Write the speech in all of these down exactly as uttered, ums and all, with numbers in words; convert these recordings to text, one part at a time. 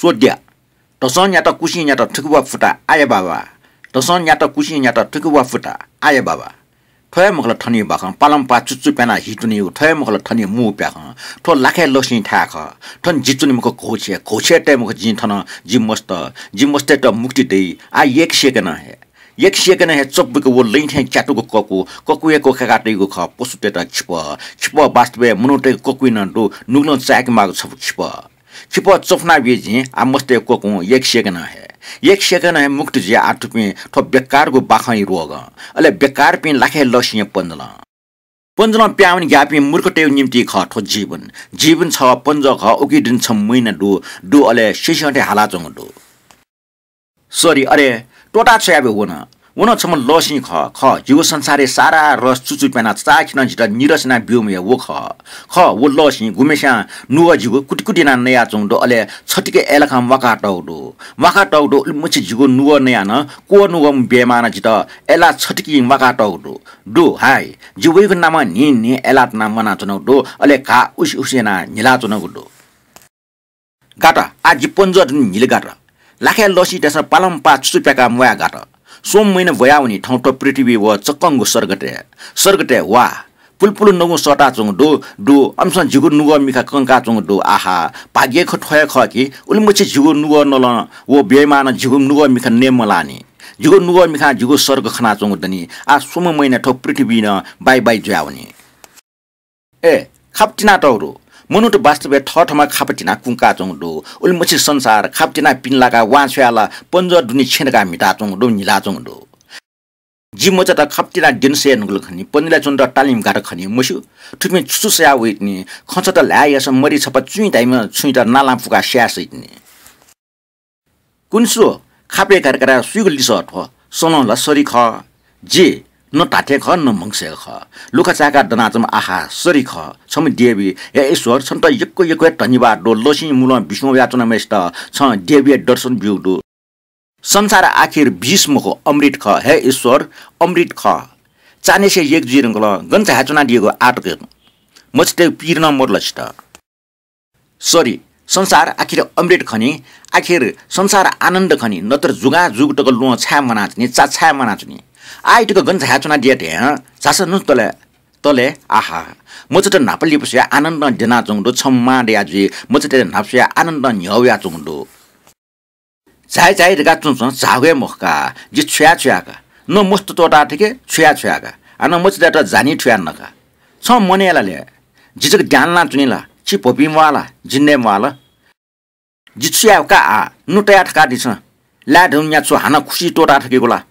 च्वद्या। धसं न्यात कुसिं न्यात थुकिवा फुता आया बाबा। धसं न्यात कुसिं न्यात थुकिवा फुता आया बाबा। थ्व हे मखु ला थनिगु बाखं, पालंपाः चुचु प्यानाः हितुनिगु, थ्व हे मखु ला थनिगु मू प्याखं। थ्व लाखय् लसिं थाय् खः। थन जि च्वने मखु घौछे, घौछे तये मखु जिं थन जि मस्त, जि मस्तय्त मुक्ति दइ। आः एक सेकेन्डं हे, एक सेकेन्डं हे चब्बुक व लैं थें च्यातुगु ककु, ककुया क्वकाय्का तइगु खः पशुतय्त खिपः। खिपः वास्तवय् मनूतय्गु ककुइ नं दु, नुगलं चाय्के माःगु छपु खिपः। खिपः चफुना बी जिं, आः मस्तय् क्वकुं एक सेकेन्डं हे। एक सेकेन्डं हे मुक्ति जुया आः थुपिं थ्व बेकारगु बाखंया रोगं। अले बेकारपिं लाखय् लसिंया पञ्जलं। पञ्जलं प्याहां वने ग्याःपिं मूर्खतय्गु निंतिं खः थ्व जीवन। जीवन छगः पञ्जः खः, उकी दुने छम्ह महिना दु, दु अले सिसिं थें हालाच्वंगु दु। सरी, अरे, त्वःता छु याये वन? व नं छम्ह लसिं खः, खः। जिगु संसारय् सारा रस चुचु प्यानाः चाचाःखिनं जितः निरस यानाः ब्यूम्ह हे व खः। खः, व लसिं गुम्हेस्यां नुगः जिगु कुतिकुति यानाः नयाच्वंगु दु, अले छतिके अय्लाखं म्वाकातःगु दु। म्वाकातःगु दु, उलिमछि जिगु नुगः नयाः नं क्वः नुगः बेमानं जितः अय्लाः छतिकिं म्वाकातःगु दु। दु, हाय, जि वइगु नामं न्हिं न्हिं अय्लाः तनाः म्वानाच्वनागु दु, अले घाः उसि उसि यानाः न्हिलाच्वनागु दु। गात, आः जि पञ्जः दुने न्हिले गात। लाखय् लसिं तय्सं पालंपाः चुचु प्याकाः म्वाये गात। स्वम्ह महिना ब्वयावनी थौं थ्व पृथ्वीइ व चक्कंगु सर्गतय्। सर्गतय् वा। पुलपुल नगुं सःताच्वंगु दु, दु, अनसं जिगु नुगः मिखा कंकाच्वंगु दु। आहा, भाग्यया खँ थ्व हे खः कि, उलिमछि जिगु नुगः नलं व बेमानं जिगु नुगः मिखा नये मलाःनि। जिगु नुगः मिखां जिगु सर्ग खनाच्वंगु दनि। आः स्वम्ह महिना थ्व पृथ्वीइ नं बाइ बाइ जुयावनी। ए, खापा तिनातःगु दु। मनूत वास्तवय् थःथम्हं खापा तिनाः कुंकाच्वंगु दु। उलिमछि संसार खापा तिनाः पिने लाकाः वां छ्वयाः ला पञ्जः दुने छेँ धकाः म्हिताच्वंगु दु, न्हिलाच्वंगु दु। जि मचात खापा तिनाः द्यने सये धुंकल खनी, पञ्जुलाय् च्वनेत तालिम गात खनी, मस्यू। थुपिं छु छु सयाः वइतिनि, खँचात ल्हाये याःसा मरि छपा चुइँ धाइम्ह छुँयात नालां पुकाः स्याये सइतिनि। कुन्सु, खापय् घात घात सुइगु लिसः थ्व? सलं ला सरि खः। जि, न धात्थें खः, न म्हगसय् खः। लुखा चाय्काः दनाच्वंम्ह आहा, सरि खः। छम्ह देवी, हे ईश्वर, छन्त यक्व यक्व हे धन्यवाद दु। लसिं मुलं बिस्युं वयाच्वनाम्हय्सित छं देवीया दर्शन ब्यूगु दु। संसार आखिर विष मखु, अमृत खः। हे ईश्वर, अमृत खः। चान्हय्सिया एक जुइ धुंकल, गन झायाच्वनादीगु आः तक। मचातय्गु पीर नं मदु ला छित? सरी, संसार आखिर अमृत खनी, आखिर संसार आनन्द खनी, नत्र जुगां जुग तक ल्वहं छाय् म्वानाच्वनी, चा छाय् म्वानाच्वनी। आः तक गन झायाच्वनादिया धयां, झासँ नु तले, तले, आहा। मचात न्हापा लिपा स्वयाः आनन्दं द्यनाच्वंगु दु, छम्ह मां दया जुइ, मचातय्त न्हापा स्वयाः आनन्दं न्ह्यः वयाच्वंगु दु। झाइ झाइ धकाः च्वं च्वं झाःगु हे मखु का, जि छु याये छु याये का। न मस्त त्वःताः थके, छु याये छु याये का। हानं मचातय्त जानी थुयाः नका। छं मनय् ला ले, जि जक द्यां लानाच्वनी ला, छि भपिं म्वाः ला, जि नये म्वाः ला? जि छु याये का आः, नु तया थकादिसँ। लाय् धुन न्या छु हानं खुसि त्वःताः थकेगु ला?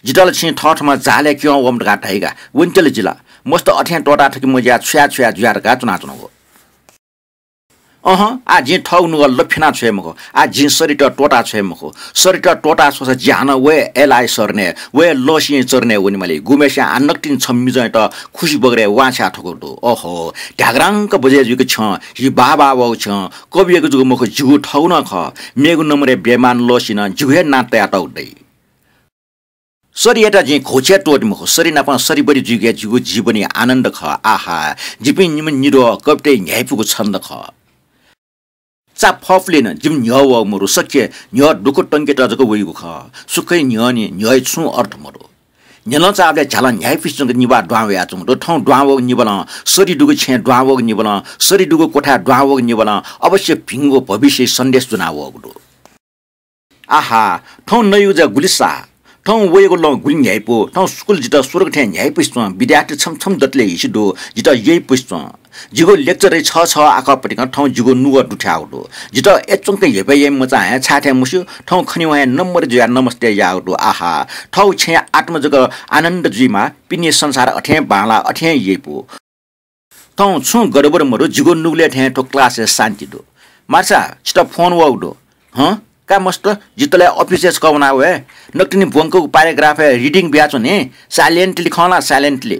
जितः ला छिं थःथम्हं जालय् क्यं वःम्ह धकाः धाइ का, वनेत ला जि ला। मस्त अथें त्वःताः थके मज्याः छु याये छु याये जुयाः धकाः च्वनाच्वनागु। अहँ, आः जिं थःगु नुगः लफिना छ्वये मखु। आः जिं सरित त्वःता छ्वये मखु। सरित त्वःता स्वःसा जि हानं व हे अय्लाःया शरणय्, व हे लसिंया चरणय् वनेमाली। गुम्हेस्यां आः नकतिनि छम्ह मिजंयात खुसि बगरय् वां छ्वया थकूगु दु। ओहो, ध्याग्रांक बजय् जुइक छ्यं, हि बाः बाः वःगु छ्यं, कबियागु जक मखु, जिगु थःगु नं खः। मेगु नम्बरय् ब्ययमान लसिं नं जिगु हे नां तयातःगु दइ। सरियात जिं घौछें त्वःते मखु। सरि नाप सरिबरि जुइगु हे जिगु जीवनया आनन्द खः। आहा, जिपिं निम्ह निद्वः कविताया न्ह्याइपुगु छन्द खः। चा फफुलिं नं जिमि न्ह्यः वःगु मदु। सकसिया न्ह्यः दुःख तंकेत जक वइगु खः। सुखया न्ह्यःने न्ह्यःया छुं अर्थ मदु। न्ह्यलं चाःबलय् झ्यालं न्ह्याइपुसे च्वंक निभाः दुहां वयाच्वंगु दु। थौं दुहां वःगु निभालं, सरि दुगु छेँय् दुहां वःगु निभालं, सरि दुगु क्वथाय् दुहां वःगु निभालं अवश्य भिंगु भविष्यया सन्देश ज्वना वःगु दु। आहा, थौं नइगु ज्या गुलि साः, थौं वइगु लं गुलि न्ह्याइपु, थौं स्कुल जितः स्वर्ग थें न्ह्याइपुसे च्वं, विद्यार्थी छम्ह छम्ह दतले हिसि दु, जितः यइपुसे च्वं। जिगु lecture-य् छः छः आखः पतिकं थौं जिगु नुगः दुथ्याःगु दु। जितः अय्च्वंक हेपय् याइम्ह मचां हे छाय् थें मस्यू, थौं खनेवं हे नम्बर जुयाः नमस्ते याःगु दु। आहा, थःगु छेँया आत्मा जक आनन्द जुइमाः, पिने संसार अथें बांलाः, अथें यइपु। थौं छुं गडबड मदु, जिगु नुगलय् थें थ्व class-य् शान्ति दु। मार्सा, छितः फोन वःगु दु। हँ? का मस्त, जि तले office-य् छकः वना वये। नकतिनि ब्वंकूगु paragraph-य् reading बियाच्वने। Silently खँ ल्हा, silently।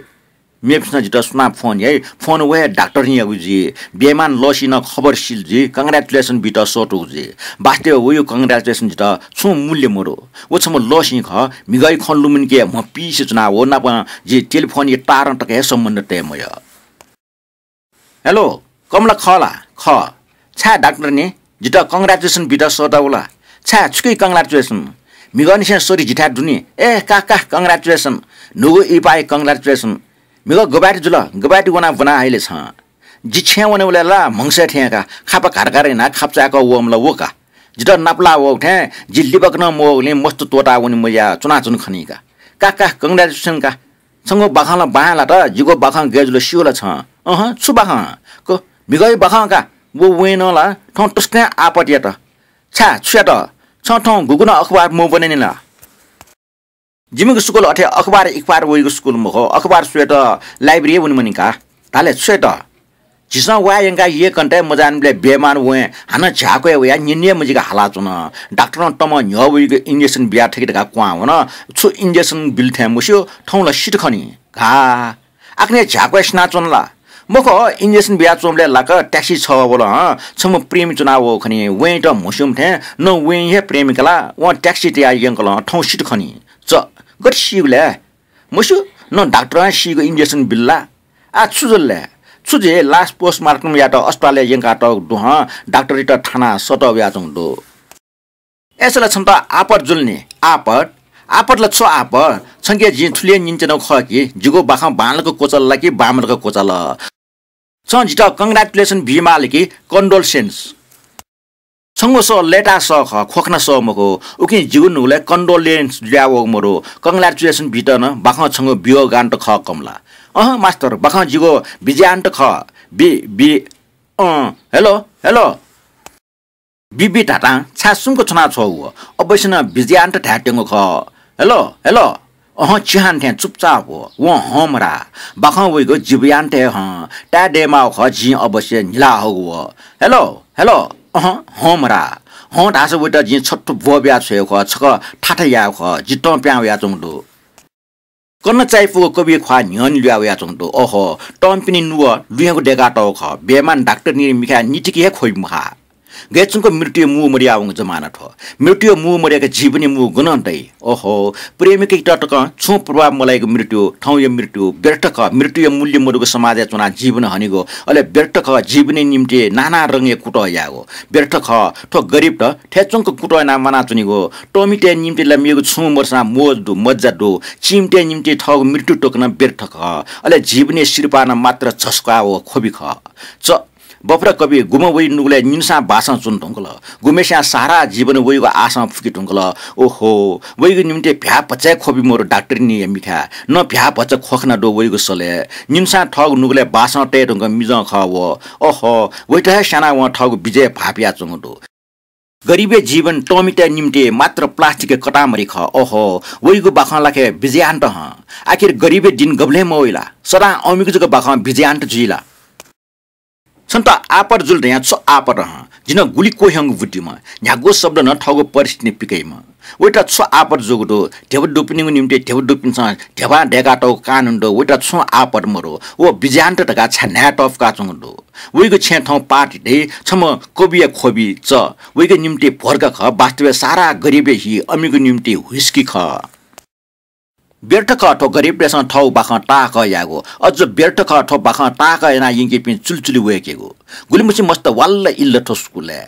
मेपिन्सं जितः सुनां फोन याइ, फोन व हे डाक्टरनियागु जुइ। ब्ययमान लसिं नं खबर सिल जुइ, congratulation बीत सःतूगु जुइ। वास्तवय् वइगु congratulation जितः छुं मूल्य मदु। व छम्ह लसिं खः, म्हिगःया खँ लुमंकेगु म्ह पिइसे च्वना, व नाप जि telephone-या तारं तक हे सम्बन्ध तये मयः। Hello, कमला खः ला? खः। छाय् डाक्टरनी? जितः congratulation बित सःता वल। छाय् छुकी congratulation? म्हिगःनिसें सरि जिथाय् दुनि। ए का का, congratulation। न्हूगु इपाय् congratulation। म्हिगः गबाय् जुल, गबाय् वना ब्वना हइले छं। जि छेँय् वनेबलय् ला म्हगसय् थें का, खापा घारघार यानाः खापचाय्‌क वःम्ह ला व का। जितः नापलाः वःगु थें जि लिबाक नं मवःगुलिं मस्त त्वःताः वने मज्याः च्वनाच्वन खनी का। का का, congratulation का। छंगु बाखं ला बां लात, जिगु बाखं गय् जुल स्यू ला छं? अहँ, छु बाखं? क, म्हिगःया बाखं का। व वँय् नं ला थौं तसकं आपत यात। छाय्, छु यात? छं थौं गुगुं नं अखबार मब्वनेनि ला? जिमिगु स्कुल अथे अखबार इखबार वइगु स्कुल मखु, अखबार स्वयेत library हे वने मनि का। धाले छु यात? झीसं वा यंकाः यय्‌कन्थय् मजाःनिबलय् बेमान वँय् हानं झ्याक्वय् वयाः न्यने हे मजिक हालाच्वन। डाक्टरं तमं न्ह्यः वइगु injection बिया थकि धकाः क्वहां वन। छु injection बिल थें मस्यू, थौं ला सित खनी। घा। आखने झ्याक्वय् सिनाच्वन ला? मखु, injection बियाच्वंबलय् लाक taxi छगः वल हं, छम्ह प्रेमी च्वनावः खनी। वँय्‌त म्हस्यूम्ह थें न वँय् हे प्रेमिका ला, वं taxi तयाः यंकल हं, थौं सित खनी। च, गथे सीगु लय्? मस्यू, न डाक्टरं सीगु injection बिल ला? आ छु जुल लय्? छु जुइ, लास postmortem यायेत अस्पतालय् यंकातःगु दु हं, डाक्टरयात थानाः सःतः वयाच्वंगु दु। अय्‌सा ला छन्त आपत जुल नि, आपत? आपत ला छु आपत? छंके जिं थुलि हे न्यनाच्वनागु खः कि, जिगु बाखं बांलाक क्वचाल ला कि बांमलाक क्वचाल? छं जितः congratulation बीमाल कि condolences? छंगु सः लय्‌ताः सः खः, ख्वखना सः मखु। उकिं जिगु नुगलय् condolence जुयावःगु मदु। Congratulation बीत नं बाखं छंगु वियोगान्त खः कमला। अहँ मास्तर, बाखं जिगु विजयान्त खः। बि, बि, अँ, hello, hello। बिबि धातां छाय् सुम्क च्वनाछ्वःगु? अवश्य नं विजयान्त धायेत्यंगु खः। Hello, hello। अहँ, चिहान थें चुपचाप व। वं हँ मधाः। बाखं वइगु जीवयान्त हे हं। ताये दयेमाःगु खः, जिं अवश्य न्हिलाहःगु व। Hello, hello। अहँ, हँ मधाः। हँ धाःसा वइत जिं छत्थु ब्वः बिया छ्वयेगु खः, छकः थाथा यायेगु खः। जि तं पिहां वयाच्वंगु दु। कन्हय् चायापुगु कविया ख्वाः न्ह्यःने लुया वयाच्वंगु दु। ओहो, तंपिनि नुगः लुँय्‌गु दय्‌कातःगु खः। बेमान डाक्टरनी मिखाय् नितिके हे ख्वबि मखा। गय् च्वंक मृत्युया मू मदयावंगु जमाना थ्व। मृत्युया मू मदय्‌क जीवनया मू गनं दइ? ओहो, प्रेमिकयात तकं छुं प्रभाव मलाइगु मृत्यु, थौंया मृत्यु व्यर्थ खः। मृत्युया मूल्य मदुगु समाजय् च्वनाः जीवन हनेगु, अले व्यर्थ खः। जीवनया निम्ति नाना रंगया कुतः यायेगु व्यर्थ खः। थ्व गरिबत थय्‌च्वंक कुतः यानाः म्वानाच्वनेगु। तःमितय् निम्ति ला मेगु छुं मदुसां मोज दु, मज्जा दु। चीमितय् निम्ति थःगु मृत्यु तक नं व्यर्थ खः। अले जीवनया सिरपाः नं मात्र झस्काः व ख्वबि खः। च, बफरा कवि, गुम्ह वइ नुगलय् निन्हुसां बासं च्वने धुंकल। गुम्हस्यां सारा जीवन वइगु आशां फुके धुंकल। ओहो, वइगु निम्ति भ्याः भचा हे ख्वबि मदु डाक्टरनीया मिखाय्। न भ्याः भचा ख्वखना दु वइगु सलय्। निन्हुसां थःगु नुगलय् बासं तये धुंकल मिजं खः व। ओहो, वइत हे स्यानाः वं थःगु विजय भाःपिया च्वंगु दु। गरिबया जीवन तःमितय् निम्ति मात्र प्लास्टिकया कतामरी खः। ओहो, वइगु बाखं ला खः विजयान्त हं। आखिर गरिबया दिन गबलें मवइ ला? सदां अमिगु जक बाखं विजयान्त जुइ ला? छन्त आपत जुल धयां छु आपत हं? जि नं गुलि क्वह्यंगु बुद्धिम्ह, न्ह्यागु शब्द नं थःगु परिस्थितिं पिकइम्ह। वइत छु आपत जूगु दु? ध्यबा दुपिनिगु निम्ति ध्यबा दुपिन्सं ध्यबां दय्‌कातःगु कानुन दु, वइत छुं आपत मदु। व विजयान्त धकाः छाय् न्हाय् तःफुकाच्वंगु दु? वइगु छेँय् थौं पार्टी दइ, छम्ह कविया ख्वबि च। वइगु निम्ति भोर्का खः, वास्तवय् सारा गरिबया हि अमिगु निम्ति whisky खः। व्यर्थ खः थ्व गरिबतय्‌सं थःगु बाखं ताःहाकः यायेगु। अझ व्यर्थ खः थ्व बाखं ताःहाकः यानाः यंकीपिं चुलिचुलि वय्‌केगु। गुलिमछि मस्त वाल्ल इल्ल थ्व स्कुलय्।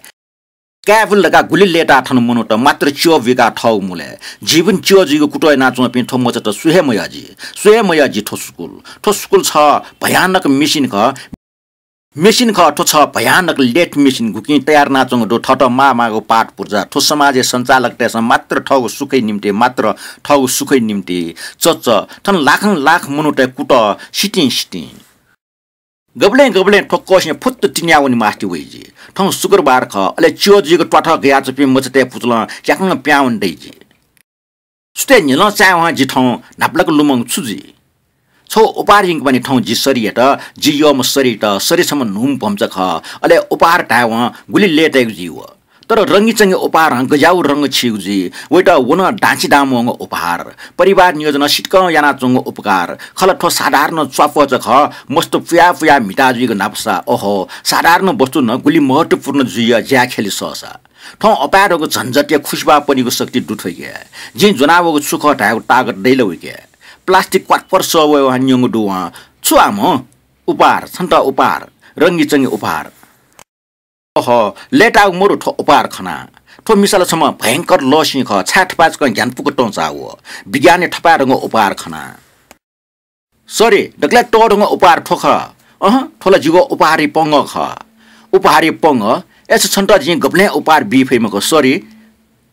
कायेफुल धकाः गुलि लय्‌ताः थन मनूत मात्र च्यः बुइकाः थःगु मुलय्। जीवन च्यः जुइगु कुतः यानाच्वंपिं थ्व मचात सु हे मयः जि। सु हे मयः जि थ्व स्कुल। थ्व स्कुल छ भयानक machine खः। Machine खः, थ्व छ भयानक late machine, गुकिं तयार यानाच्वंगु दु थःत माःमाःगु पाट पुर्जा। थ्व समाजया सञ्चालकतय्‌सं मात्र थःगु सुखया निम्ति, मात्र थःगु सुखया निम्ति। च, च, थन लाखं लाख मनूतय् कुतः सितिं सितिं। गबलें गबलें थ्व कःसिं फुत्त तिनिया वने मास्ति वइ जि। थौं शुक्रबार खः, अले च्यः जुइगु त्वाथः गयाच्वंपिं मचातय् पुचलं च्याकं पिहां वने दइ जि। सुथय् न्हिलं चायेवं जि थौं न्हापालाक लुमंगु छु जुइ? छगू उपहार यंकेमानि थौं जि सरियात, जि यःम्ह सरियात, सरि छम्ह न्हूम्ह भम्चा खः। अले उपहार धायेवं गुलि लय्‌ताइगु जुइ व। तर रंगीचंगी उपहारं गज्याःगु रंग छीगु जुइ। वइत व नं दांछि दां म्वःगु उपहार। परिवार नियोजनं सितिकं यानाच्वंगु उपकार। खला थ्व साधारण च्वापःचा खः, मस्त पुया पुया म्हिता जुइगु न्हापासा। ओहो, साधारण वस्तु नं गुलि महत्त्वपूर्ण जुइया ज्या ख्यलि सःसा। थौं अपाय्‌धुंकू झन्झटया खुसिबाः पनिगु शक्ति दु थ्वइके। जिं ज्वनावःगु छु खः धायेगु ताकत दइ ला वइके? प्लास्टिक क्वातपर सः वयेवं न्यंगु दु वं। छु आम्ह? उपहार, छन्त उपहार, रंगीचंगी उपहार। अह, लय्ताःगु मरु थ्व उपहार खना। थ्व मिसा ला छम्ह भयंकर लःसिं खः, छाय् थपाय् छकः ज्ञान पुक तं चाःगु। विज्ञानय् थपाय् धंगु उपहार खना। सरी, दकलय् तःधंगु उपहार थ्व खः। अहँ, थ्व ला जिगु उपहारया पंगः खः। उपहारया पंगः? अय्सा छन्त जिं गबलें उपहार बी फइ मखु। सरी,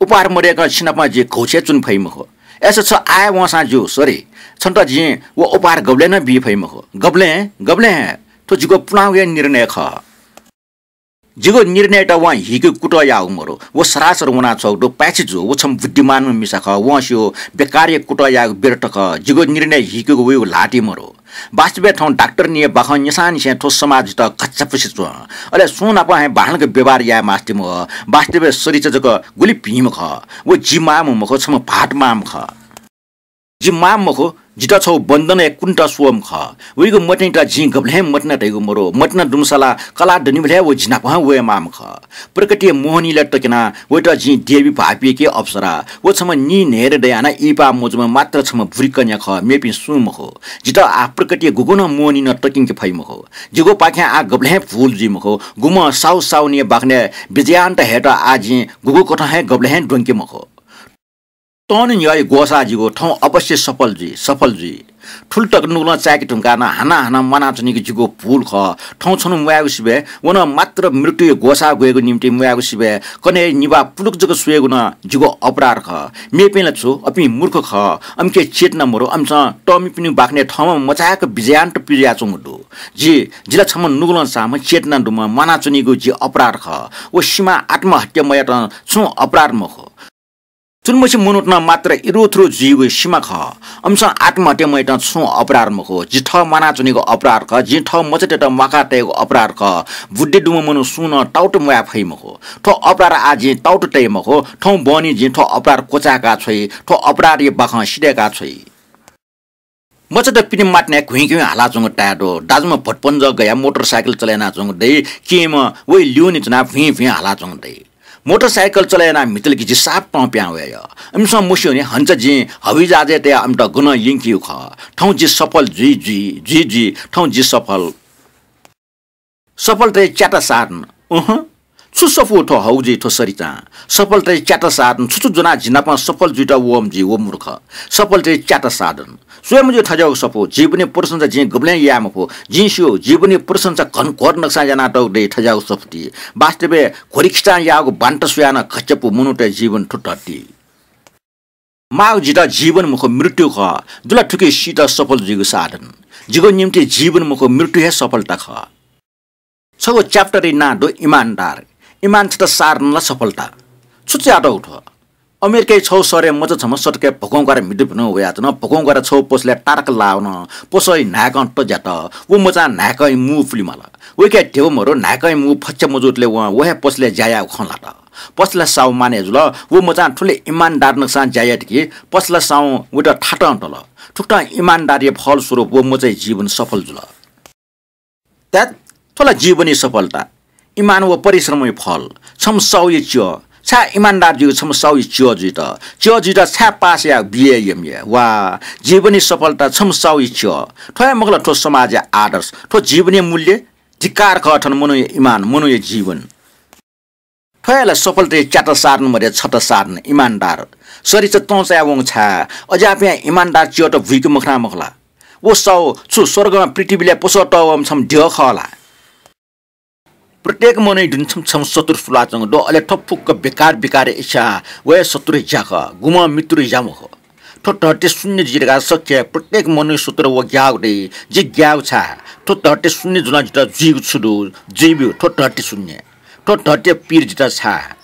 उपहार मदय्कं छिनाप जि घौछेँय् च्वने फइ मखु। अय्सा छ आः हे वंसां ज्यू। सरी, छन्त जिं व उपहार गबलें नं बी फइ मखु। गबलें, गबलें हे? थ्व जिगु पुलांगु हे निर्णय खः। जिगु निर्णययात वं हीकेगु कुतः याःगु मरु। व सरासर वनाच्वंगु दु, पाय्छि जू। व छम्ह बुद्धिमानम्ह मिसा खः। वं स्यू, बेकारया कुतः यायेगु व्यर्थ खः। जिगु निर्णय हीकेगु वइगु ल्हातिइ मरु। वास्तवय् थौं डाक्टरनीया बाखं न्यंसांनिसें थ्व समाज जितः घच्चापुसे च्वं। अले सुं नाप हे बांलाक व्यवहार याये मास्ति मवः। वास्तवय् सरिता जक गुलि भिंम्ह खः। व जि मांम्ह मखु, छम्ह भाःत मांम्ह खः। जि मांम्ह मखु, जितः छगू बन्धनय् कुनेत स्वःम्ह खः। वइगु मतिनात जिं गबलें हे मतिना धइगु मरु। मतिना दुम्हसा ला कलाः दनिबलय् हे व जिनाप हे वये माःम्ह खः। प्रकृतिया मोहनीलय् तक्यनाः वयात जिं देवी भाःपिके अप्सरा। व छम्ह नीन्हय्दँ दयाः नं इहिपा मजूम्ह मात्र छम्ह बुरी कन्या खः, मेपिं सुं मखु। जितः आः प्रकृतिया गुगुं नं मोहनीनं तक्यंके फइ मखु। जिगुपाखें आः गबलें हे भूल जुइ मखु। गुम्ह साहु साहुनीया बाखनय् विजयान्त हयेत आः जिं गुगु कथं हे गबलें हे द्वंके मखु। तःन्हु न्ह्यःया ग्वसाः जिगु, थौं अवश्य सफल जुइ, सफल जुइ। थुलि तक नुगलं चाय्के धुंकाः नं हानं हानं म्वानाच्वनीगु जिगु भूल खः। थौं छन्हु म्वायेगु सिबय् व नं मात्र मृत्युया ग्वसाः ग्वयेगु निंतिं म्वायेगु सिबय् कन्हय् निभाः पुलुक जक स्वयेगु नं जिगु अपराध खः। मेपिं ला छु, अपिं मूर्ख खः, अमिके चेतना मरु, अमिसं तःमिपिनिगु बाखनय् थःम्हं मचाय्क विजयान्त पिज्वयाच्वंगु दु। जि, जि ला छम्ह नुगलं चाःम्ह, चेतना दुम्ह, म्वानाच्वनीगु जि अपराध खः। व सिमां आत्महत्या मयातं छुं अपराध मखु। चुलिमछि मनूत नं मात्र इरुथुरु जुइगु सिमा खः। अमिसं आत्महत्या मयातं छुं अपराध मखु। जि थः म्वानाच्वनीगु अपराध खः। जिं थः मचातय्त म्वाका तयेगु अपराध खः। बुद्धि दुम्ह मनू सुं नं ताउत म्वाये फइ मखु। थ्व अपराध आः जिं ताउत तये मखु। थौं बहनी जिं थ्व अपराध क्वचाय्का छ्वइ। थ्व अपराधया बाखं सिधय्का छ्वइ। मचात पिने मातिनाय् घुइँ घुइँ हालाच्वंगु ताये दु। दाजुम्ह भतपंजः गयाः मोटरसाइकल चले यानाच्वंगु दइ। केहेँम्ह वइ ल्यूने च्वनाः भुइँ भुइँ हालाच्वंगु दइ। मोटरसाइकल चले यानाः म्हितल कि जि साप तं पिहां वये यः। इमिसं मस्यू नि, हन्चा जिं हवाईजहाजय् तयाः अमित गनं यंकेगु खः। थौं जि सफल जुइ, जुइ, जुइ, जुइ, थौं जि सफल। सफलताया च्याता साधन। अहँ, छु सफू थ्व हौजी, थ्व सरितां। सफलताया च्याता साधन छु छु ज्वनाः जि नाप सफल जुइत वःम्ह जुइ व मूर्ख। सफलताया च्याता साधन। स्वये मज्यू थज्याःगु सफू। जीवनया प्रशंसा जिं गबलें याये मफु। जिं स्यू, जीवनया प्रशंसा घनघोर नक्सां यानातःगु दइ थज्याःगु सफूति। वास्तवय् घ्वरिखिचां याःगु बान्ता स्वयाः नं घच्यापु मनूतय् जीवन थ्व धरती। माःगु जितः जीवन मखु, मृत्यु खः। दु ला थुकी सीत सफल जुइगु साधन। जिगु निंतिं जीवन मखु, मृत्यु हे सफलता खः। छगू chapter-या नां दु इमानदार। इमान छता साधन ला सफलता। छु च्वयातःगु थ्व? अमेरिकाया छगू शहरय् मचा छम्ह सतकय् भकंग्वारा म्हितु भिनु वयाच्वन। भकंग्वारा छगू पसलय् तारक लाः वन। पसःया न्हाय्कं तज्यात। व मचां न्हाय्कंया मू पुले माल। वय्कःया ध्यबा मरु, न्हाय्कंया मू फच्चा मजूतले वं व हे पसलय् ज्या यायेगु खँ ल्हात। पसलय् साहु मानय् जुल। व मचां थुलि इमानदार नक्सां ज्या यात कि पसलय् साहुं वयात थातं तल। थुकथं इमानदारया फलस्वरूप व मचाया जीवन सफल जुल। त्यात, थ्व ला जीवनया सफलता। इमान व परिश्रमया फल। छम्ह साहुया च्यः। छाय् इमानदार जुइगु छम्ह साहुया च्यः जुइत? च्यः जुइत छाय् पास यायेगु बीए, एमए? वा, जीवनया सफलता छम्ह साहुया च्यः। थ्व हे मखु ला थ्व समाजया आदर्श, थ्व जीवनया मूल्य? धिक्कार खः थन मनूया इमान, मनूया जीवन। थ्व हे ला सफलताया च्याता साधन मध्ये छता साधन, इमानदार। सरिता तं चायावंगु छाय्? अज्याःपिं इमानदार च्यःत बुइके मखना मखु ला? व साहु छु स्वर्गं पृथ्वीलय् पसः तःवःम्ह छम्ह द्यः खः ला? प्रत्येक मनूया दुने छम्ह छम्ह शत्रु सुलाच्वंगु दु, अले थ्व फुक्क बेकार बेकारया इच्छा, व हे शत्रुया ज्या खः, गुम्हं मित्रया ज्या मखु। थ्व धरती शून्य जुइ धकाः शक्य हे प्रत्येक मनूया शत्रु व ग्याःगु दइ। जि ग्याःगु छाय्? थ्व धरती शून्य जुलं जितः जुइगु छु दु? जुइब्यु थ्व धरती शून्य। थ्व धरतीया पीर जितः छाय्?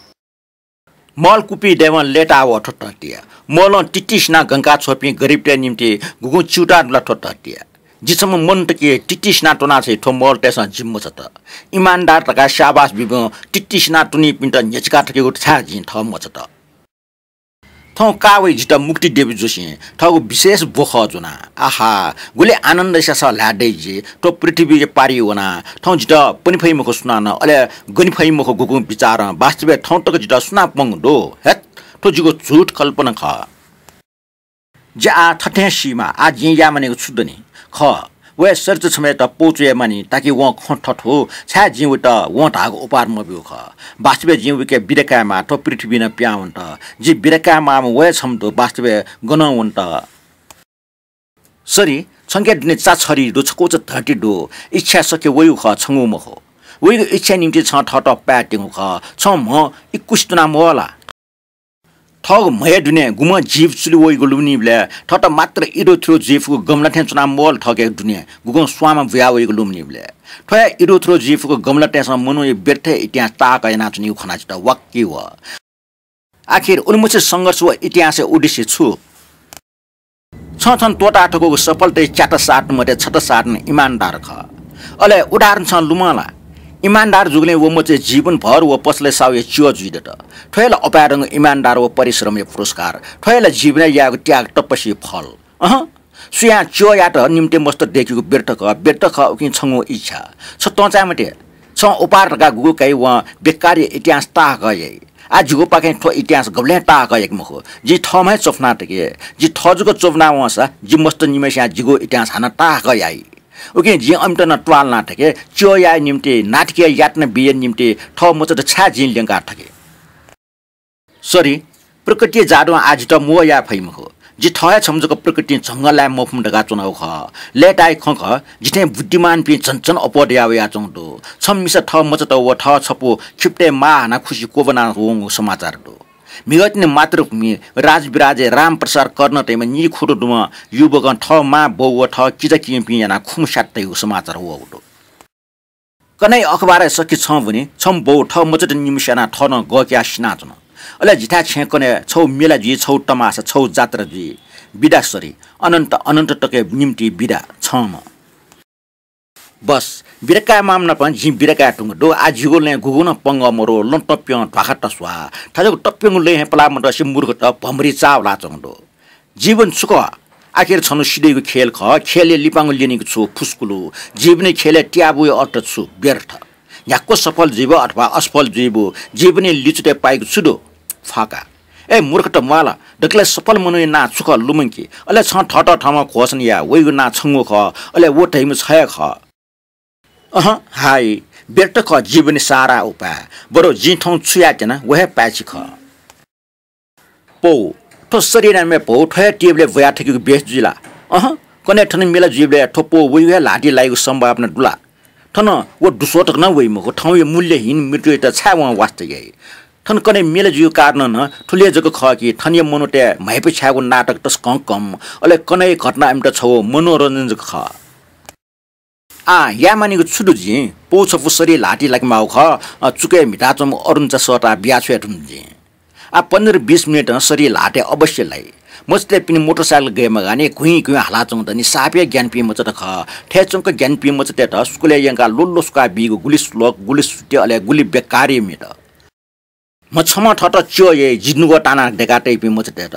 मल कुपी दयेवं लय्ताः वः थ्व धरतीया। मलं तित्तिसिनाः गंका छ्वःपिं गरिबतय् निंतिं गुगुं च्यूताः दु ला थ्व धरतीया? जि छम्ह मनूत कि तित्तिसिनाः त्वनाछ्वइ, थ्व मलतय्सं जि मचात। इमानदार धकाः स्याबास बीब्यं तित्तिसिनाः त्वनीपिन्त न्ह्यचिका थकेगु छाय् जिं थः मचात? थौं का वइ जितः मुक्ति देवी जोशीं थःगु विशेष ब्व खः ज्वनाः। आहा, गुलि आनन्द स्यासः ल्हाये दइ जि। थ्व पृथ्वीया पारिइ वनाः थौं जितः पने फइ मखु सुनानं, अले गने फइ मखु गुगुं बिचारं। वास्तवय् थौं तक जितः सुनां पंगु दु? हेत्, थ्व जिगु झूठ कल्पना खः। जि आः थथें सीमाः, आः जिं याये मानिगु छु दनि? खः, वया चरित्र छम्हय्‌त पौ च्वये मानि, ताकि वं खँ थथू, छाय् जिं वइत वं धाःगु उपहार मब्यूगु खः। वास्तवय् जिं वइके बिदा कायेमाः, थ्व पृथ्वीं नं पिहां वनेत। जिं बिदा कायेमाःम्ह व हे छम्ह दु, वास्तवय् गनं वनेत। सरी, छंके दुने चा छरी दु, छकूचा धर्ती दु, इच्छा सके वइगु खः, छंगु मखु। वइगु इच्छाया निंतिं छं थःत पाय् त्यंगु खः। छं म्ह इकुसि च्वना मवः ला? थःगु म्हया दुने गुम्ह जीव चुलि वइगु लुमनीबलय् थःत मात्र इदो थुदो जुइ फुगु गमला थें च्वना मवल। थःके दुने गुगुं स्वांमा बुया वइगु लुमनीबलय् थ्वया इदो थुदो जुइ फुगु गमला थेंसं मनूया व्यर्थ इतिहास ताःक यानाच्वनीगु खनाः जितः वाक्क वः। आखिर उलिमछि संघर्ष व इतिहासया उद्देश्य छु? छं छन्त त्वःता थकूगु सफलताया च्यात सार्तम्ह मते छता सार्तम्ह इमानदार खः। अले उदाहरण छं लुमं ला? इमानदार जूगुलिं व मचे जीवनभर व पसलय् साहुया च्यः जुइ दत। थ्व हे ला अपाय्‌धंगु इमानदार व परिश्रमया पुरस्कार। थ्व हे ला जीवनय् याःगु त्याग तपस्याया फल। अहँ, सुयां च्यःयात निम्ते मस्त दय्‌केगु व्यर्थ खः, व्यर्थ खः उकिं छंगु इच्छा। छ तंचाय् मते। छं उपहार धकाः गुगु काइ वं बेकारया इतिहास ताःहाकः याइ। आः जिगुपाखें थ्व इतिहास गबलें ताःहाकः याके मखु। जिं थःम्हं हे च्वफुना थके। जि थः जक च्वफुना वंसा जि मस्त निम्हय्‌सियां जिगु इतिहास हानं ताःहाकः याइ। उकिं जिं अमित नं त्वाःलाना थके। च्यः याये निम्ते, नातिके यातना बीया निम्ते थः मचात छाय् जिं ल्यंका थके? सरी, प्रकृतिया जादुं आः जितः म्वः याये फइ मखु। जि थः हे छम्ह जक प्रकृतिं झंगः लाये मफुम्ह धकाः च्वनागु खः। लय्‌ताया खँ खः, जि थें बुद्धिमानपिं झन झन अप्वः दया वयाच्वंगु दु। छम्ह मिसा थः मचात व थः छपु खिपतय् माः हानाः खुसि क्वब्वना वंगु समाचार दु। म्हिगः तिनि मातृभूमि राजविराजय् रामप्रसाद कर्ण धइम्ह निखुदँ दुम्ह युवकं थः मां बौ व थः किजा किजापिं यानाः खुम्ह स्यात तइगु समाचार वःगु दु। कन्हय् अखबारय् सकि छं ब्वनी, छम्ह बौ थः मचात निम्ह स्यानाः थः नं गःक्याः सिनाच्वन। अले जिथाय् छेँय् कन्हय् छगू मेला जुइ, छगू तमासा, छगू जात्रा जुइ। बिदा सरी, अनन्त अनन्त तकया निम्तिं बिदा छम्ह। बस, बिदा कायेमाःम्ह नाप जिं बिदा काये धुंकल दु। आः जिगु लँय् गुगु नं पंगः मरु, लँ तप्यं, ध्वाखा तस्वाः। थज्याःगु तप्यंगु लँय् हे पलाः मतसे मूर्खत भमरी चाः वलाच्वंगु दु। जीवन छु खः? आखिर छन्हु सिधइगु खेल खः। खेलय् लिपांगु ल्यनीगु छु? फुस्कुलु। जीवनय् खेलय् त्यागया अर्थ छु? व्यर्थ। न्ह्याक्व सफल जुइबु अथवा असफल जुइबु, जीवनया लिचुतय् पाइगु छु दु? फाका। ए मूर्खत म्वाल, दकलय् सफल मनूया नां छु खः लुमंकि। अले छं थःत थःम्हं घोषणा या, वइगु नां छंगु खः, अले व धइम्ह छ हे खः। अहँ, हाइ, व्यर्थ खः जीवनया सारा उपाय। बरु जिं थौं छु यायेत्यना, व हे पाय्छि खः। पौ, थ्व शरीरया म्ये पौ थ्व हे टेबलय् ब्वया थकेगु बेस जुइ ला? अहँ, कन्हय् थन मेला जुइबलय् थ्व पौ वइगु हे ल्हातिइ लाइगु सम्भावना दु ला? थन व दुस्वतक नं वइ मखु, थौंया मूल्यहीन मृत्युयात छाय् वं वास्ता याइ? थन कन्हय् मेला जुइगु कारणं नं थुलि हे जक खः कि थनया मनूतय् म्हाइपु छायेगु नाटक तसकं कम, अले कन्हय् घटना इमित छगू मनोरञ्जन जक खः। आः, याये मानिगु छु दु जिं? पौ छपु शरीर ल्हातिइ लाकेमाःगु खः, अ, चुकय् म्हिताच्वंम्ह अरुणचा सःताः बियाछ्वये धुन जिं। आः, पन्ध्र बिस मिनेटं शरीर ल्हातय् अवश्य लाइ। मचातय् पिने मोटरसाइकल गय् मगानि, घुइँ घुइँ हालाच्वंगु दनि, साप हे ज्ञानपिं मचात खः। थय् च्वंक ज्ञानपिं मचातय्त स्कुलय् यंकाः ल्वःल्वः स्वकाः बीगु गुलि श्लोक, गुलि सूत्य, अले गुलि बेकारया म्ये दु। म्ह छम्हं थःत च्यः याइ, जिनुगः तानाः दय्‌का तइपिं मचातय्त।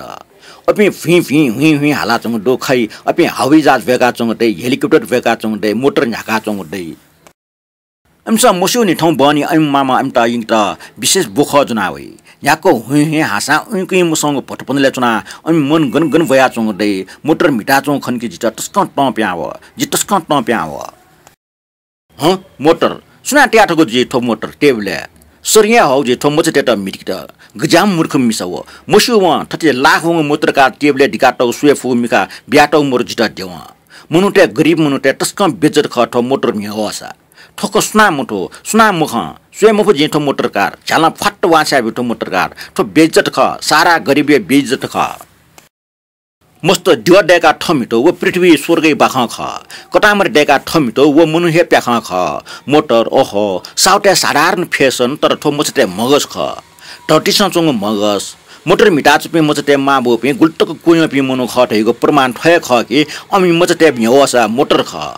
अपिं भिं भिं हुइँ हुइँ हालाच्वंगु दु, खइ, अपिं हवाईजहाज भ्वय्‌काच्वंगु दइ, हेलिकप्टर भ्वय्‌काच्वंगु दइ, मोटर न्ह्याकाच्वंगु दइ। इमिसं मस्यूनि थौं बहनी अमिमाम्ह अमित यंकेत विशेष ब्वखः ज्वना वइ। न्ह्याक्व हुइँ हुइँ हाःसां उइँकुइँ मसंगु भतपंजलय् च्वनाः अमि मन गन गन ब्वयाच्वंगु दइ। मोटर म्हिताच्वंगु खनकि जितः तसकं तं पिहां वः। जि तसकं तं पिहां वः। हँ, मोटर। सुनां तया थकू जुइ थ्व मोटर टेबलय्? सरिं हे हःगु जुइ थ्व मचातय्त म्हितिकेत। गज्याःम्ह मूर्ख मिसा व। मस्यू वं थथे लाख वंगु मोटरकार टेबलय् दिकातःगु स्वये फुगु मिखा बियातःगु मरु जितः द्यवं। मनूतय्, गरिब मनूतय् तसकं बेइज्जत खः थ्व मोटर म्हिगः वःसा। थ्व खँ सुनां मथू, सुनां मखं। स्वये मफु जिं थ्व मोटरकार। झ्यालं फ्वात्त वांछ्याइब्यु थ्व मोटरकार। थ्व बेइज्जत खः, सारा गरिबया बेइज्जत खः। मस्त द्यः दय्‌काः थः म्हितू व पृथ्वी स्वर्गया बाखं खः। कतांमरि दय्‌काः थः म्हितू व मनू हे प्याखं खः। मोटर, ओहो, साहुतय् साधारण फेसन, तर थ्व मचातय् म्हगस खः। धर्तीसं च्वंगु म्हगस। मोटर म्हिताच्वंपिं मचातय् मांबौपिं गुलितक क्वह्यंपिं मनू खः धइगु प्रमाण थ्व हे खः कि अमि मचातय् म्हिगः वःसा मोटर खः।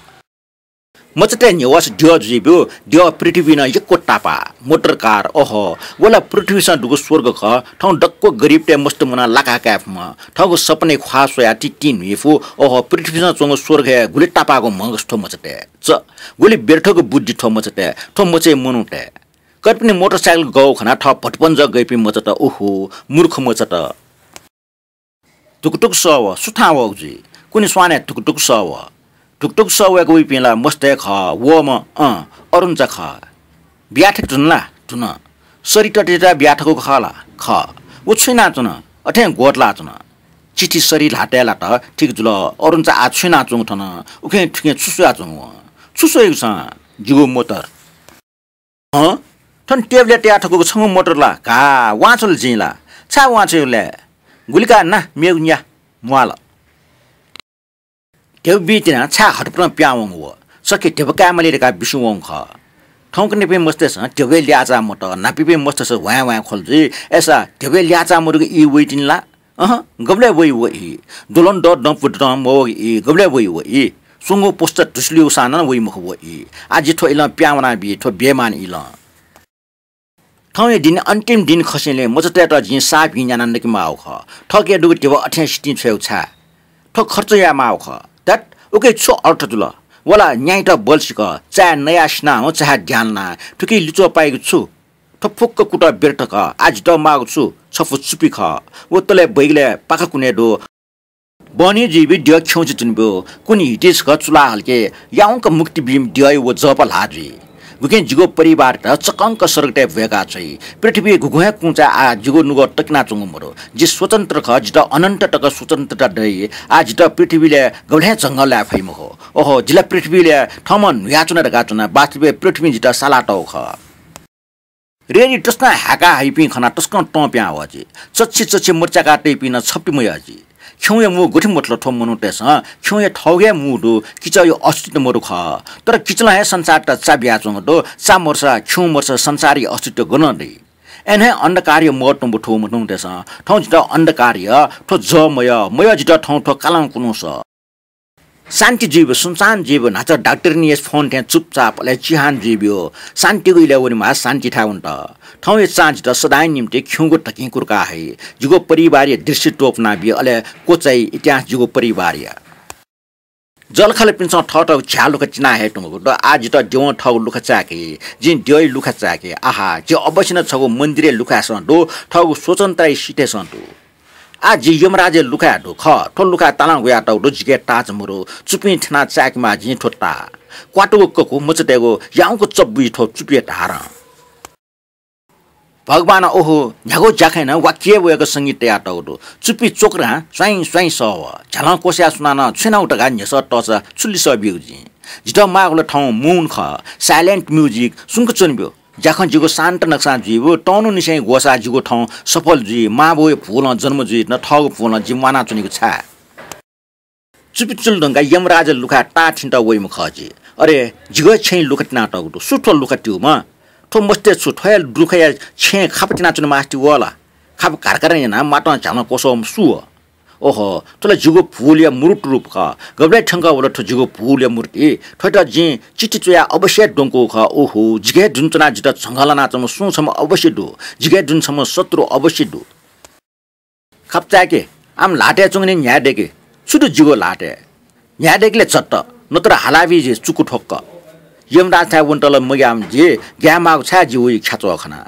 मचातय् न्ह्यवःसा द्यः जुइब्यु, द्यः पृथ्वीं नं यक्व तापाः। मोटरकार, ओहो, व ला पृथ्वीसं दुगु स्वर्ग खः। थौं दक्व गरिबतय् मस्त मुनाः लाकाः काये फुम्ह। थःगु सपनाया ख्वाः स्वयाः तितिं न्हुइ फु। ओहो, पृथ्वीसं च्वंगु स्वर्ग हे गुलि तापाःगु म्हगस थ्व मचातय्। च, गुलि व्यर्थगु बुद्धि थ्व मचातय्, थ्व मचाया मनूतय्। कतःपिनि मोटरसाइकल गःगु खनाः थः भतपंजः गइपिं मचात, उहु, मूर्ख मचात। धुकुधुकु सः वः, सुथां वःगु जुइ? कुने स्वानय् धुकुधुकु सः वः। धुकधुक सः वय्क वइपिं ला मस्त हे खः, वःम्ह, अँ, अरुणचा खः। बिया थके धुन ला? धुन। सरि ततय्त बिया थकूगु खः ला? खः। व छु यानाच्वन? अथें ग्वतलाच्वन। चिठी सरि ल्हातय् लात, ठीक जुल। अरुणचा आः छु यानाच्वंगु थन? उखें थुखें छु स्वयाच्वंगु वं? छु स्वइगु छं? जिगु मोटर। हँ? थन टेबलय् तया थकूगु छंगु मोटर ला? का, वांछ्वल जिं ला। छाय् वांछ्वयेगु लय्? गुलि का ना, मेगु न्या, म्वाल। ध्यबा बी तिनाः छाय् हतपतं पिहां वंगु व? सके ध्यबा काये माली धकाः बिस्युं वंगु खः। थौंकन्हय्‌पिं मस्तय्‌सं ध्यबा ल्याःचाः मत, न्हापांपिं मस्तय्‌सं ह्वाँय् ह्वाँय् ख्वल जुइ। अय्‌सा ध्यबा ल्याःचाः मदुगु ई वइ तिनि ला? अहँ, गबलय् वइ व ई? द्वलंद्वः दँपु दँ मवःगु ई गबलय् वइ व ई? स्वंगू पोस्त धुसुलिउसां नं वइ मखु व ई। आः जि थ्व इलं पिहां वनाबी, थ्व बेमान इलं। थौंया दिं अन्तिम दिं खसेंलि मचातय्‌त जिं साप हिं न्यानाः नके माःगु खः। थःके दुगु ध्यबा अथें सितिं छ्वयेगु छाय्? थ्व खर्च याये माःगु खः। धत्, उके छु अर्थ जुल? व ला न्याइत बल्सिक, चाय् नयाः सिनाः हँ, चाय् द्यां लानाः, थुकी लिच्वः पाइगु छु? थ्व फुक्क कुतः व्यर्थ खः। आः जितः माःगु छु? छपु चुपि खः। व तलय् बैगलय् पाखा कुने दु। बहनी जुइबी द्यः खिउँसे च्वनेब्यु। कुन्हि हिति छकः चुला हल्के, याउँक मुक्ति बीम्ह द्यःया व जःपः ल्हाः जुइ। गुकिं जिगु परिवारयात चकंक स्वर्गतय् ब्वय्का छ्वइ। पृथ्वीइ गुगुं हे कुँचाय् आः जिगु नुगः तकिनाच्वंगु मदु। जि स्वतन्त्र खः, जितः अनन्त तक स्वतन्त्रता दइ। आः जितः पृथ्वीलय् गबलें झंगः लाये फइ मखु। ओहो, जि ला पृथ्वीलय् थःम्हं न्हुयाच्वना धकाः च्वना, वास्तवय् पृथ्वीं जितः सालातःगु खः। रेडी तसकं हाय्‌का हइपिं खनाः तसकं तं पिहां वः जि। चच्छि चच्छि मत च्याका तइपिं नं छप्ति मयः जि। खिउँया मू गथे मतल थ्व मनूतय्‌सं? खिउँया थःगु हे मू दु, किचःया अस्तित्व मदु खः। तर किचलं हे संसारत चा बियाच्वंगु दु। चा मदुसा, खिउँ मदुसा संसारया अस्तित्व गनं दइ? अय्‌नं हे अन्धकारया महत्व मथूम्ह मनूतय्‌सं थौं जितः अन्धकारया थ्व जः मयः, मयः जितः थौं थ्व कालं कुन्हुस। शान्ति जुइब्यु, सुनसान जुइब्यु, न्हाचः डाक्टरनीया फोन थें चुपचाप अले चिहान जुइब्यु। शान्तिगु इलय् वनेमाः, शान्तिथाय् वनेत। थौंया चां जितः सदांया निंतिं खिउँगु धकिं कुर्का हइ। जिगु परिवारया दृष्टि त्वपुनाबी, अले क्वचाइ इतिहास जिगु परिवारया। जःलाखःलापिन्सं थःथःगु झ्याः लुखा चिना हये धुंकूगु दु। आः जितः द्यवं थःगु लुखा चाय्‌की, जिं द्यःया लुखा चाय्‌की। आहा, जि अवश्य नं छगू मन्दिरया लुखाय्‌सं दु, थःगु स्वतन्त्रताया सिथय्‌सं दु। आः जि यमराजया लुखाय् दु खः। थ्व लुखाय् तालं हुयातःगु दु, जिके ताःचा मदु। चुपिं थ्यनाः चाय्‌केमाः जिं थ्व ताः। क्वातुगु ककु मचातय्‌गु याउँक चब्बुइ थ्व चुपिया धारं। भगवानं ओहो न्ह्यागु ज्याखँय् नं वाक्य वय्‌क संगीत तयातःगु दु। चुपि च्वक्रां स्वाइँ स्वाइँ सः वः। झ्यालं क्वसाया सुनानं छु यानागु धकाः न्ह्यसः तःसा छु लिसः बीगु जिं? जितः माःगु ला थौं moon खः, silent music, सुंक च्वनेब्यु। ज्याखँ जिगु शान्त नकसां जुइब्यु, तःन्हुनिसें ग्वसाः जिगु थौं सफल जुइ, मांबौया भुलं जन्म जुइ, न थःगु भुलं जि म्वानाच्वनेगु छाय्? चुपि चुल धुंकाः यमराजया लुखाय् ताः थिनेत वइम्ह खः जि। अरे, जिगु हे छेँय् लुखा तिनातःगु दु। सु थ्व लुखा त्यूम्ह? थ्व मस्तय् छु थ्वया लुखाया छेँय् खापा तिनाच्वने मास्ति वः ला? खापा घारघार यानाः मातं झ्यालं क्वसःम्ह सु व? ओहो, थ्व ला जिगु भुलया मूर्त रूप खः। गबलय् थ्यंकः वल थ्व जिगु भुलया मूर्ति? थ्वयात जिं चिठी च्वयाः अवश्य द्वंकूगु खः। ओहो, जिके हे दुने च्वनाः जितः झंगः लानाच्वंम्ह सुं छम्ह अवश्य दु। जिके हे दुने छम्ह शत्रु अवश्य दु। खापा चाय्‌के, आम ल्हातय् च्वंगुलिं न्ह्याये दय्‌के। छु दु जिगु ल्हातय्? न्ह्याये दय्‌के ले झट्ट, नत्र हालाबी जि चुकु ठ्वक्क। यमराजथाय् वनेत ला मग्याःम्ह जि, ग्याये माःगु छाय् जि वइ ख्याच्वः खनाः।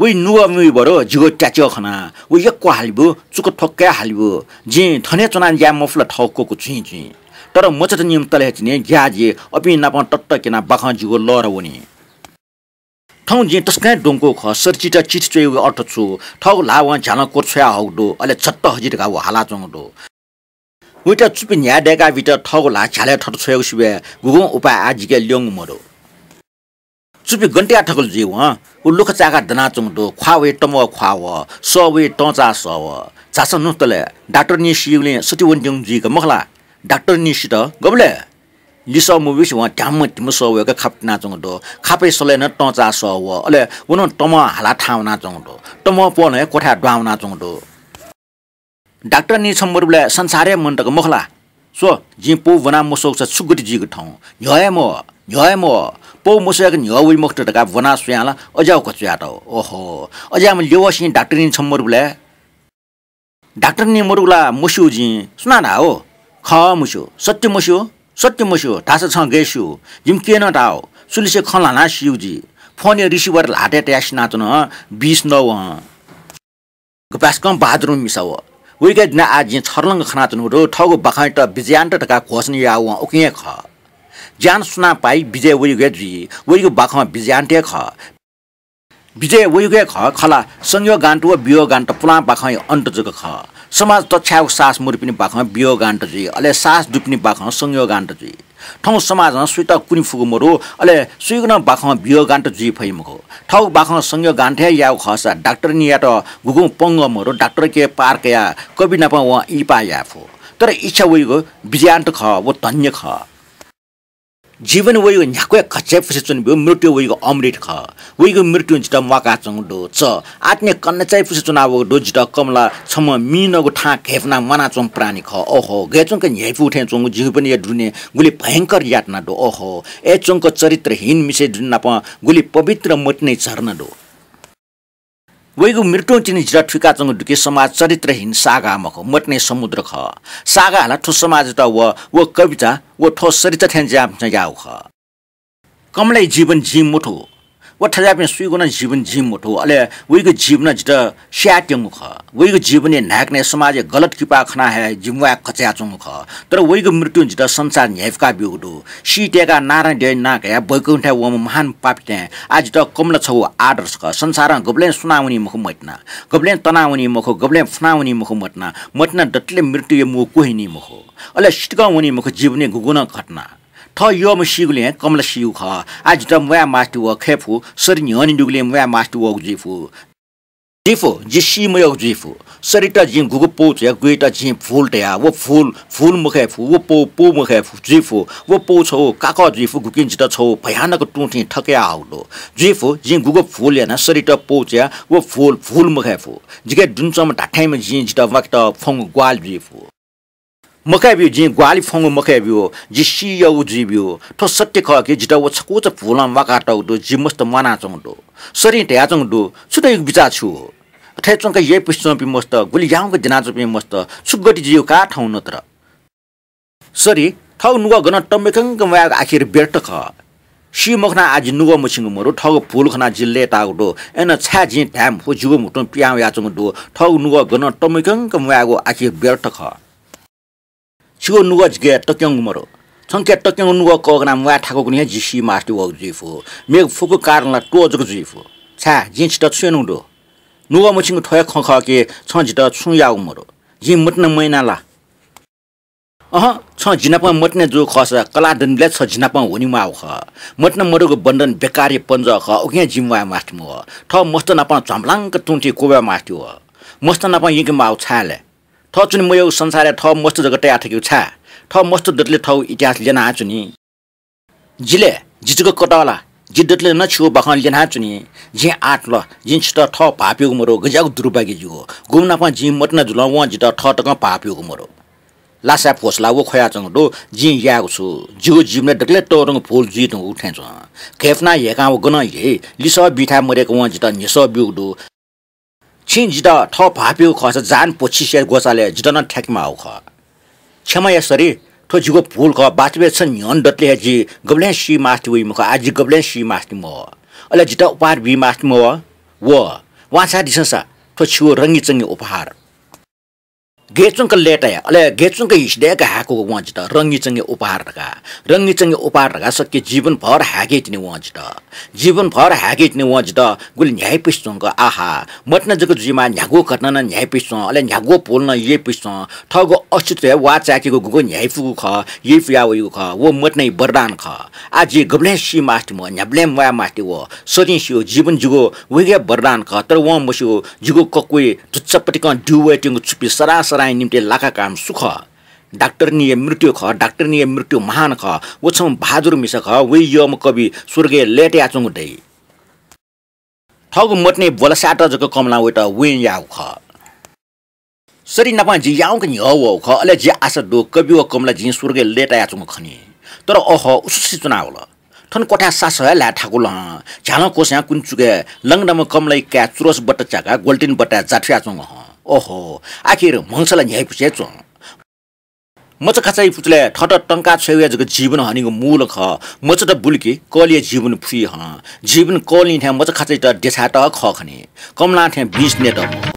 वइ नुगः मुइ बरु जिगु त्याच्वः खनाः, व यक्व हालिब्यु, चुकु ठ्वक्क हे हालिब्यु। जिं थन हे च्वनाः ज्या मफु ला थःगु ककु चुइँचुइँ। तर मचात नीम्ह तले हे तिनि ग्याः जि, अपिं नाप तत्त क्यनाः बाखं जिगु लःर वनी। थौं जिं तसकं हे द्वंकूगु खः, सरचित चिठी च्वयेगु अर्थ छु? थःगु ल्हाः वं झ्यालं क्वछ्वया हःगु दु, अले झट्ट हजि धकाः व हालाच्वंगु दु। वइत चुपि न्ह्याये दय्‌काः बीत थःगु ल्हाः झ्यालय् थत छ्वयेगु सिबय् गुगुं उपाय आः जिके ल्यंगु मदु। चुपि गन तयाः थकल जुइ वं, व लुखा चाय्‌काः दनाच्वंगु दु, ख्वाः वइ तमं ख्वाः वः, सः वइ तंचाः सः वः। झासँ न्हु तले, डाक्टरनी सीगुलिं सति वनेत्यंगु जुइ का मखु ला? डाक्टरनी सित गबलय्? लिसः मब्यूसे वं ध्याम्ह धिम्ह सः वय्‌क खापा तिनाच्वंगु दु। खापया सलय् नं तंचाः सः वः। अले व नं तमं हालाः थाहां वनाच्वंगु दु। तमं प्वलं हे क्वथाय् दुहां वनाच्वंगु दु। डाक्टरनी छम्ह मरुबलय् संसार हे मन्त का मखु ला? स्व, जिं पौ ब्वना मस्वःगुसा छु गति जुइगु थौं? न्ह्यः हे मवः, न्ह्यः हे मवः। पौ मस्वय्‌क न्ह्यः वइ मखुत धकाः ब्वना स्वयां ला अज्याःगु घचुयातः। ओहो, अज्याःम्ह ल्यवःसिं डाक्टरनी छम्ह मरुबलय् डाक्टरनी मरुगु ला मस्यू जिं, सुनां धाः हो? खः मस्यू, सत्य मस्यू, सत्य मस्यू, धाःसा छं गय् स्यू? जिमि केहेँ नं धाः हो, सुलिसे खँ ल्हानाः सीगु जि। फोनया receiver ल्हातय् तयाः सिनाच्वन, बिस नवं। गपाय्‌सकं बहादुरम्ह मिसा व। वइगु दिं आः जिं छर्लंक खनाच्वनागु दु, थःगु बाखंयात विजयान्त धकाः घोषणा याःगु वं उकिं हे खः। ज्यान सुनां पाइ, विजय वइगु हे जुइ, वइगु बाखं विजयान्त हे खः। विजय वइगु हे खः, खला संयोगान्त व वियोगान्त पुलां बाखंया अन्त जक खः। समाज तछ्यायेगु साहस मदुपिनि बाखं वियोगान्त जुइ, अले साहस दुपिनि बाखं संयोगान्त जुइ। थौं समाजं सुइत कुने फुगु मदु, अले सुइगु नं बाखं वियोगान्त जुइ फइ मखु। थःगु बाखं संयोगान्त हे याःगु खःसा डाक्टरनीयात गुगुं पंगः मदु, डाक्टरके पार कयाः कवि नाप वं इहिपाः याये फु। तर इच्छा वइगु विजयान्त खः, व धन्य खः। जीवन वइगु न्ह्याक्व हे घच्चाय् पुसे च्वनीब्यू, मृत्यु वइगु अमृत खः। वइगु मृत्युं जितः म्वाकाच्वंगु दु। च आत्ने कन्हय् चाय् पुसे च्वनावःगु दु। जितः कमला छम्ह मीनगु थां घय्पुनाः म्वानाच्वंगु प्राणी खः। ओहो, गय् च्वंक न्ह्याइपु थें च्वंगु जीवनया दुने गुलि भयंकर यातना दु। ओहो, अय् च्वंक चरित्रहीन मिसे दुने नाप गुलि पवित्र मतिनाया झरना दु। वइगु मृत्युं तिनि जितः थुइकाच्वंगु दु कि समाज चरित्रहीन सागा मखु, मतिनाया समुद्र खः। सागा हाला थ्व समाजयात व, व कविता, व थ्व सरिता थें ज्याःम्ह याःगु खः। कमलाया जीवन जिं मथू, व थज्याःपिं सुइगु नं जीवन जिं मथू, अले वइगु जीवन जितः स्यायेत्यंगु खः। वइगु जीवनया न्हाय्कनय् समाजया गलत किपा खनाः हे जि म्वाये घचायाच्वंगु खः। तर वइगु मृत्युं जितः संसार न्ह्याइपुका ब्यूगु दु। सी तय्काः नारायण देवया नां कयाः वैकुण्ठय् वंम्ह महान पापी थें आः जितः कमला छगू आदर्श खः। संसारं गबलें सुनावनी मखु मतिना, गबलें तनावनी मखु, गबलें फुनावनी मखु मतिना। मतिना दतले मृत्युया मू क्वहिनी मखु, अले सितिकं वनी मखु जीवनया गुगुं नं घटना। थः यःम्ह सीगुलिं हे कमला सीगु खः। आः जितः म्वाये मास्ति वः, खय् फु, सरि न्ह्यःने दुगुलिं म्वाये मास्ति वःगु जुइ फु। जुइ फु, जि सी मयःगु जुइ फु। सरित जिं गुगु पौ च्वया, गुइत जिं भूल धया, व भूल भूल मखय् फु, व पौ पौ मखय् फु, जुइ फु, व पौ छगू काकः जुइ फु, गुकिं जितः छगू भयानक तुं थें थकयाहःगु दु। जुइ फु, जिं गुगु भूल याना सरित पौ च्वया, व भूल भूल मखय् फु। जिके दुने च्वंम्ह धात्थेंम्ह जिं जितः म्वाकेत फ्वंगु ग्वाहालि जुइ फु। मखय् ब्यू, जिं ग्वाहालि फ्वंगु मखय् ब्यू, जि सी यःगु जुइ ब्यू। थ्व सत्य खः कि जितः व छकूचा भूलं म्वाकातःगु दु, जि मस्त म्वानाच्वंगु दु। सरिं धयाच्वंगु दु, छु धइगु बिचाः छु? अथे च्वंक यय्पुसे च्वंपिं मस्त, गुलि याउँक द्यनाच्वंपिं मस्त, छु गति जुइगु का थौं नत्र? सरि, थःगु नुगः गनं तमय्कंक म्वायेगु आखिर व्यर्थ खः। सी मखनाः आः जि नुगः मछिंगु मदु, थःगु भूल खनाः जि लय्ताःगु दु। अय्नं छाय् जिं धाये मफु, जिगु म्हुतुं पिहां वयाच्वंगु दु, थःगु नुगः गनं तमय्कंक म्वायेगु आखिर व्यर्थ खः। छिगु नुगः जिके तक्यंगु मदु। छंके तक्यंगु नुगः कःघानाः म्वाये थाकूगुलिं हे जि सी मास्ति वःगु जुइ फु। मेगु फुक्क कारण ला त्वः जक जुइ फु। छाय्, जिं छितः छु यानागु दु? नुगः मछिंगु थ्व हे खँ खः कि छं जितः छुं याःगु मदु। जिं मतिना मयाना ला? अहँ, छं जि नाप मतिना जूगु खःसा कलाः दनिबलय् छ जि नाप वनेमाःगु खः। मतिना मदुगु बन्धन बेकारया पञ्जः खः, उकिं हे जि म्वाये मास्ति मवः। थः मस्त नाप झ्वाम्बलांक तुं थें क्वब्वये मास्ति वः। मस्त नाप यंकेमाःगु छाय् ले? थः च्वने मयःगु संसारय् थः मस्त जक तया थकेगु छाय्? थः मस्त दतले थःगु इतिहास ल्यना च्वनी। जि ले, जि जक कतः ला? जि दतले नं छिगु बाखं ल्यना च्वनी। जिं आः तुल, जिं छितः थः भाःपिउगु मदु, गज्याःगु दुर्भाग्य जिगु। गुम्ह नाप जिं मतिना जुलं वं जितः थः तकं भाःपिउगु मदु। लासाय् भ्वसलाः व ख्वयाच्वंगु दु, जिं यायेगु छु? जिगु जीवनय् दकलय् तःधंगु भूल जुइ धुंकूगु थें च्वं। घय्पुनाः ह्यय्कां व गनं ह्यइ, लिसः बी थाय् मदय्क वं जितः न्ह्यसः ब्यूगु दु। छिं जितः थः भाःपिउगु खःसा जान भ्वसिसे ग्वसालय् जितः नं थ्याकेमाःगु खः। क्षमा या सरि, थ्व जिगु भूल खः। वास्तवय् छ न्ह्यःने दतले हे जि गबलें सी मास्ति वइ मखु, आः जि गबलें सी मास्ति मवः। अले जितः उपहार बी मास्ति मवः। व, वांछ्वयादिसँ सा, थ्व छिगु रंगीचंगी उपहार। गय् च्वंक लय्ताया, अले गय् च्वंक हिसि दय्क हाय्कूगु वं जितः रंगीचंगी उपहार धकाः। रंगीचंगी उपहार धकाः सकि जीवनभर हाय्के तिनि वं जितः। जीवनभर हाय्के तिनि वं जितः गुलि न्ह्याइपुसे च्वंक, आहा, मतिना जक जुइमाः, न्ह्यागु घटना नं न्ह्याइपुसे च्वं, अले न्ह्यागु भूल नं यइपुसे च्वं। थःगु अस्तित्वय् वाः चाय्केगु गुगु न्ह्याइपुगु खः, यइपुया वइगु खः, व मतिनाया वरदान खः। आः जि गबलें सी मास्ति मवः, न्ह्याबलें म्वाये मास्ति वः। सरिं स्यू, जीवन जिगु वइगु हे वरदान खः, तर वं मस्यू, जिगु कक्वय् धुच्चापतिकं द्यू वयेत्यंगु छुपि सदां सदांया निंतिं लाकाकाःम्ह सु खः? डाक्टरनीया मृत्यु खः, डाक्टरनीया मृत्यु महान खः। व छम्ह बहादुर मिसा खः, वया यःम्ह कवि स्वर्गय् लय्तायाच्वंगु दइ। थःगु मतिनाया ब्वलसाय्त जक कमलां वइत वयं याःगु खः। सरि नाप जि याउँक न्ह्यः वःगु खः, अले जि आशा दु, कवि व कमला जिं स्वर्गय् लय्तायाच्वंगु खनी। तर अहो, उसुसि च्वनावल। थन क्वथाय् सासः हे ल्हाये थाकु लहं, झ्यालं क्वस्वयां कुने चुकय् लंगदंम्ह कमलाया काय् चुरोस बट्टा च्याकाः ग्वलितिनि बट्टाय् जाथुयाच्वंगु हं। ओहो, आखिर म्हगस ला न्ह्याइपुसे च्वं। मचाखाचाया पुचलय् थःत तंका छ्वयेगु हे जक जीवन हनीगु मूल खः। मचात बुल कि कलिया जीवन फुइ हं। जीवन कलिं थें मचाखाचायात देछायेत खः खनी। कमलां थें बिस नयेत मखु।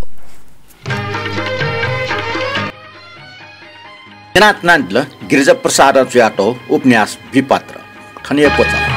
न्यनातनादिल गिरिजा प्रसादं च्वयातःगु उपन्यास विपत्र। थन हे क्वचाः।